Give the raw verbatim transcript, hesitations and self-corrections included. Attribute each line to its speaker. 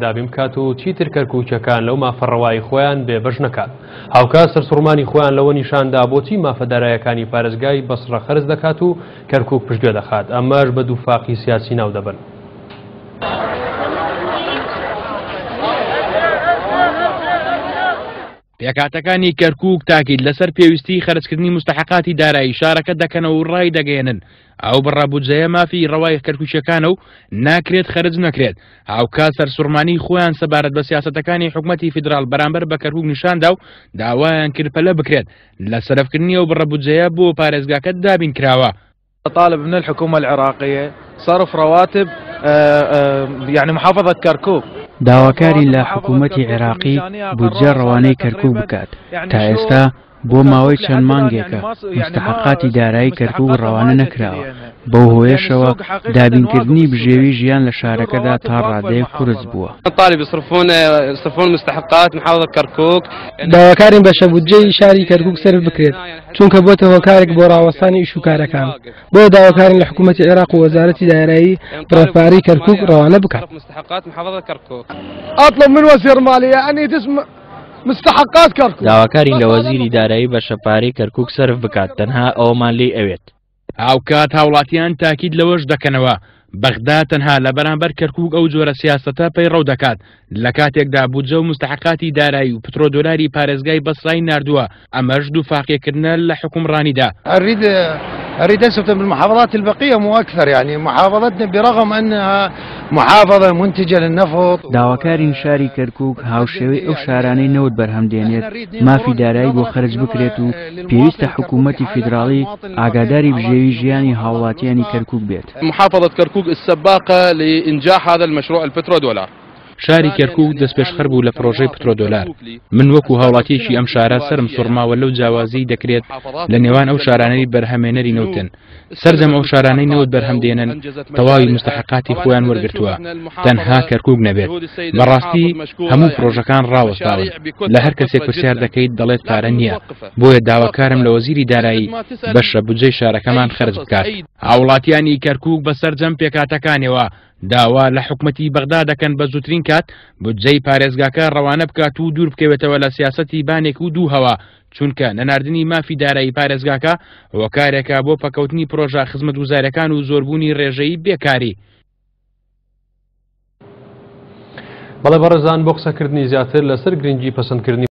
Speaker 1: دابین بکات و چیتر کەرکووکیەکان لەو مافە ڕەوایی خۆیان بێبەش نەکات. هاوکات سەرسوڕمانی خۆیان لەوە نیشاندا بۆچی مافە دارایەکانی پارێزگای بەسڕە خەرج دەکات و کەرکووک پشتگوێ دەخات، ئەمەش بە دووفاقی سیاسی ناو دەبن.
Speaker 2: پێکهاتەکانی کەرکووک تاکید لەسەر پێویستی خەرجکردنی مستحقاتی دارایی شارەکە دەکەنەوە و ڕای دەگەیەنن ئەو بڕە بودجەیە مافی ڕەوای کەرکووکیەکانە و ناکرێت خەرج نەکرێت. هاوکات سەرسوڕمانی خۆیان سەبارەت بە سیاسەتەکانی حکومەتی فیدراڵ بەرامبەر بە کەرکووک نیشاندا و داوایان کرد پەلە بکرێت لە سەرفکردنی ئەو بڕە بودجەیە بۆ پارێزگاکە دابین کراوە.
Speaker 3: طالب من الحكومة العراقية صرف رواتب يعني محافظة كركوك.
Speaker 4: داواکارین لە حکوومەتی عێراقی بودجە ڕەوانەی کەرکووک بکات. تا ئێستا بۆ ماوەی چەند مانگێکە مستحقاتی دارایی کەرکووک ڕەوانە نەکراوە، بەو هۆیەشەوە دابینکردنی بژێوی ژیان لە شارەکەدا تا ڕادەیەک قورس بووە.
Speaker 5: طالب يصرفون يصرفون مستحقات محافظة كركوك.
Speaker 6: داواکارین بەشە بودجەی شاری کەرکووک سەرف بکرێت، چونکە بۆتە هۆکارێک بۆ ڕاوەستانی ئیش و کارەکان. بۆ داواکارین لە حکوومەتی عێراق و وەزارەتی دارایی بڕە کەرکووک ڕەوانە بکات.
Speaker 5: مستحقات محافظة كركوك.
Speaker 7: أطلب من وزير المالية أن يتم مستحقات كركوك.
Speaker 8: داواکارین لە وەزیری دارایی بەشە پارەی کەرکووک سەرف بکات، تەنها ئەومان لێی ئەوێت.
Speaker 2: هاوکات هاوڵاتیان تاکید لەوەش دەکەنەوە بەغدا تەنها لە بەرامبەر کەرکووک ئەو جۆرە سیاسەتە پەیڕەو دەکات، لە کاتێکدا بودجە و مستحقاتی دارایی و پترۆدۆلاری پارێزگای بەسرای ناردووە، ئەمەش دووفاقیەکردنە لە حکومڕانیدا.
Speaker 9: أريد أريد أثبت بالمحافظات البقية مو أكثر، يعني محافظتنا برغم أنها محافظة منتجة للنفط.
Speaker 4: داواکارین شاری کەرکووک هاوشێوەی ئەو شارانەی نەوت بەرهەم دێنێت مافی دارایی بۆ خەرج بکرێت و پێویستە حکوومەتی فیدراڵی ئاگاداری بژێوی ژیانی هاوڵاتیانی کەرکووک بێت.
Speaker 5: محافظة كركوك السباقة لإنجاح هذا المشروع البترودولار.
Speaker 2: شاری کەرکووک دەستپێشخەر بوو لە پرۆژەی پترۆدۆلار. من وەکو هاوڵاتیەکی ئەم شارە سەرم سوڕماوە لەو جیاوازی دەکرێت لە نێوان ئەو شارانەی بەرهەمێنەری نەوتن. سەرجەم ئەو شارانەی نەوت بەرهەم دێنن تەواوی مستحقاتی خۆیان وەرگرتووە، تەنها کەرکووک نەبێت. بەڕاستی هەموو پرۆژەکان ڕاوەستاون. لە هەر کەسێک پرسیار دەکەیت دەڵێت پارە نییە، بۆیە داواکارم لە وەزیری دارایی بەشە بودجەی شارەکەمان خەرج بکات. هاوڵاتیانی کەرکووک بە سەرجەم پێکهاتەکانیەوە داوا لە حکومەتی بەغدا دەکەن بە زووترین کات بودجەی پارێزگاکە ڕەوانە بکات و دوور بکەوێتەوە لە سیاسەتی بانێک و دوو هەوا، چونکە نەناردنی مافی دارایی پارێزگاکە هۆکارێکە بۆ پەکەوتنی پرۆژە خزمەتگوزاریەکان و زۆربوونی ڕێژەی بێکاری.
Speaker 1: بەڵێ بەڕێزان، بۆ قسەکردنی زیاتر لەسەر گرنگی پەسەندکردنی